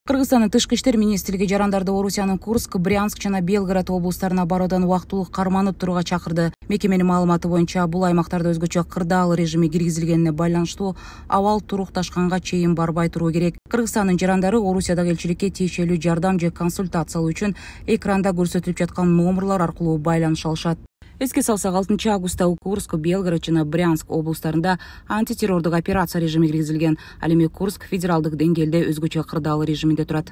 Кыргызстандын тышкы иштер министрлиги жарандарды Орусиянын Курск, Брянск жана Белгород облустарына баруудан убактылуу карманып турууга чакырды. Мекеменин маалыматы боюнча бул аймактарда өзгөчө кырдаал режими киргизилгенине байланыштуу абал турукташканга чейин барбай туруу керек. Кыргызстандын жарандары Орусиядагы элчиликке тиешелүү жардам же консультация алуу үчүн экранда көрсөтүлүп жаткан номерлор аркылуу байланыша алышат. Эске салсак, 6 августта Курск, Белгород жана Брянск облустарында антитеррордук операция режими киргизилген. Ал эми Курск федералдык деңгээлде өзгөчө кырдаал режиминде турат.